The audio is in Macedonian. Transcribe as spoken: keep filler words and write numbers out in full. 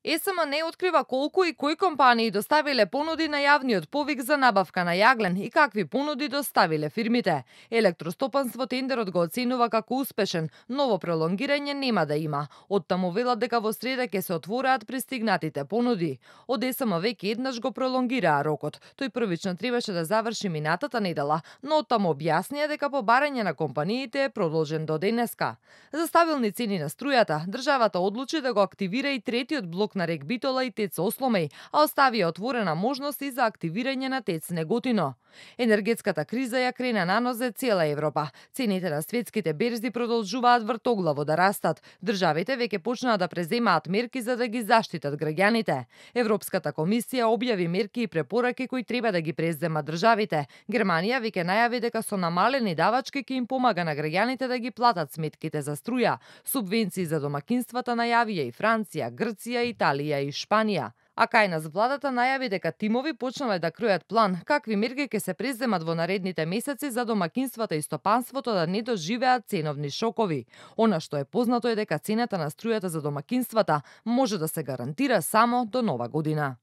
Е С М не открива колку и кои компании доставиле понуди на јавниот повик за набавка на јаглен и какви понуди доставиле фирмите. Електростопанство тендерот го оценува како успешен, ново пролонгирање нема да има. Оттаму велат дека во среда ќе се отвораат пристигнатите понуди. Од Е С М веќе еднаш го пролонгираа рокот. Тој првично требаше да заврши минатата недела, но оттаму објаснија дека по барање на компаниите е продолжен до денеска. За стабилни цени на струјата, државата одлучи да го активира и третиот блок на Рек Битола и ТЕЦ Осломеј, а оставија отворена можност и за активирање на ТЕЦ Неготино. Енергетската криза ја крена на нозе цела Европа. Цените на светските берзи продолжуваат вртоглаво да растат. Државите веќе почнаа да преземаат мерки за да ги заштитат граѓаните. Европската комисија објави мерки и препораки кои треба да ги преземат државите. Германија веќе најави дека со намалени давачки ќе им помага на граѓаните да ги платат сметките за струја. Субвенции за домакинствата најавија и Франција, Грција, Италија и Шпанија. А кај нас владата најави дека тимови почнале да кројат план какви мерки ќе се преземат во наредните месеци за домакинствата и стопанството да не доживеат ценовни шокови. Она што е познато е дека цената на струјата за домакинствата може да се гарантира само до нова година.